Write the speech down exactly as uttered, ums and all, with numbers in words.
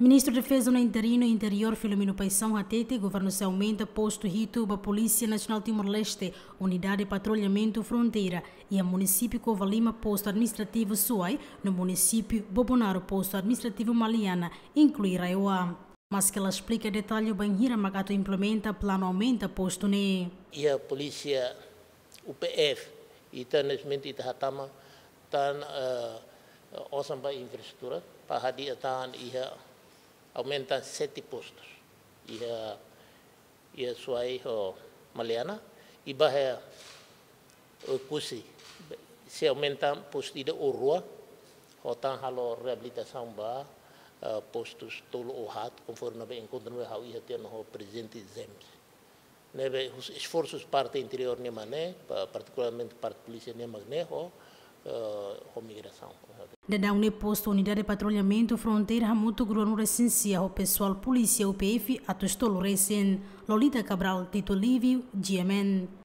Ministru Defeza no Interinu Interiór Filomeno Paixão hatete governu sei aumenta postu hitu ba Polísia Nasionál Timor-Leste, Unidade Patrullamentu Fronteira, iha munisípiu Covalima postu administrativu Suai, no munisípiu Bobonaro postu administrativu Maliana, inklui RAEOA. Maske la esplika detalle bainhira mak atu implementa planu aumenta postu ne'e. Iha polísia U P F, ita nesmenti ita hatama tan, eh, osan ba infraestrutura, para hadi'a tan iha aumenta sete postus. Iha, iha Suai ho Maliana, i ba iha Oekusi, sei aumenta postu ida ou rua, ho tan halo reabilitasaun ba, eh, postus tolu ou haat, konforme ne'ebé enkontru ne'ebé ha'u iha tiha ona ho Prezidente James. Ne'ebé husi esforsu parte interiór nian mak ne'e, pa-, partikularmente parte polísia nian mak ne'e, ho, eh, ho migrasaun. Daudaun ne'e postu Unidade Patrullamentu Fronteira hamutuk ruanulu-resin-sia ho pesoál polísia U P F atus tolu resin. Lolita Cabral, Tito Livio, G M N.